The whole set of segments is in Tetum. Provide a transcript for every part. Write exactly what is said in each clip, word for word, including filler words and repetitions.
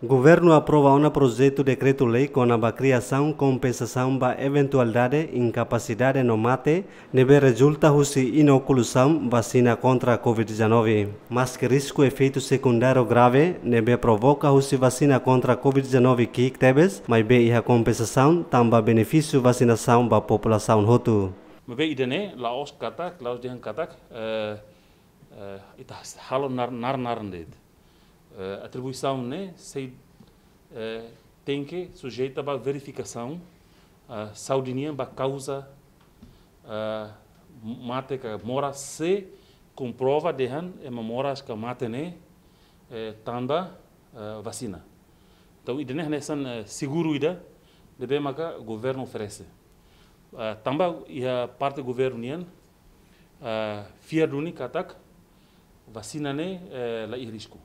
Governu aprova ona projetu dekretu-lei kona-ba kriasaun kompensasaun ba eventualidade inkapasidade no mate ne'ebé rezulta husi inokulasaun vasina kontra Covid dezanove. Maske risku efeitu sekundáriu grave ne'ebé provoka husi vasina kontra Covid dezanove ki'ik tebes, maibé iha kompensasaun tanba benefísiu vasinasaun ba populasaun hotu. Maibé ida-ne'e la'ós katak, la'ós dehan katak, eh, eh, ita halo nar-, nar-naran de'it. Eh, atribuisaun ne'e sei, eh, tenke sujeita ba verifikasaun, eh, saúde nian ba kauza, eh, mate ka moras se komprova dehan ema moras ka mate ne'e, eh, tanba, eh, vasina. Entaun, ida-ne'e hanesan, eh, seguru ida ne'ebé maka governu oferese. Eh, tanba iha parte governu nian, eh, fiar duni katak vasina ne'e, eh, la iha risku.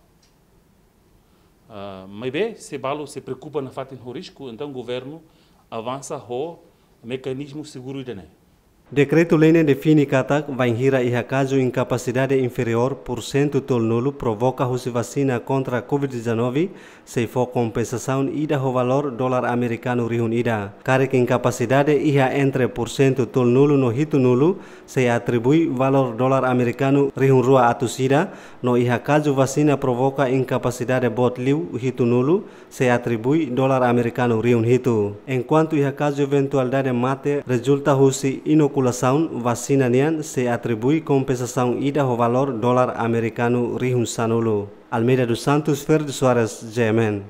Eh, maibé, se balu sei preokupa nafatin ho risku, entaun governu avansa ho mekanizmu seguru ida-ne'e. Dekretu-lei ne'e define katak, bainhira iha kazu inkapasidade inferiór pursentu tolunulu provoka husi vasina kontra Covid dezanove, sei fó kompensasaun ida ho valór dolar amerikanu rihun ida. Karik inkapasidade iha entre pursentu tolunulu no hitunulu, sei atribui valór dolar amerikanu rihun rua atus ida, no iha kazu vasina provoka inkapasidade boot liu hitunulu, sei atribui dolar amerikanu rihun hitu. Enkuantu iha kazu eventualidade mate rezulta husi inokulasaun vasina nian, sei atribui kompensasaun ida ho valór dolar amerikanu rihun sanulu. Almeida dos Santos, Ferdi Soares, G M N.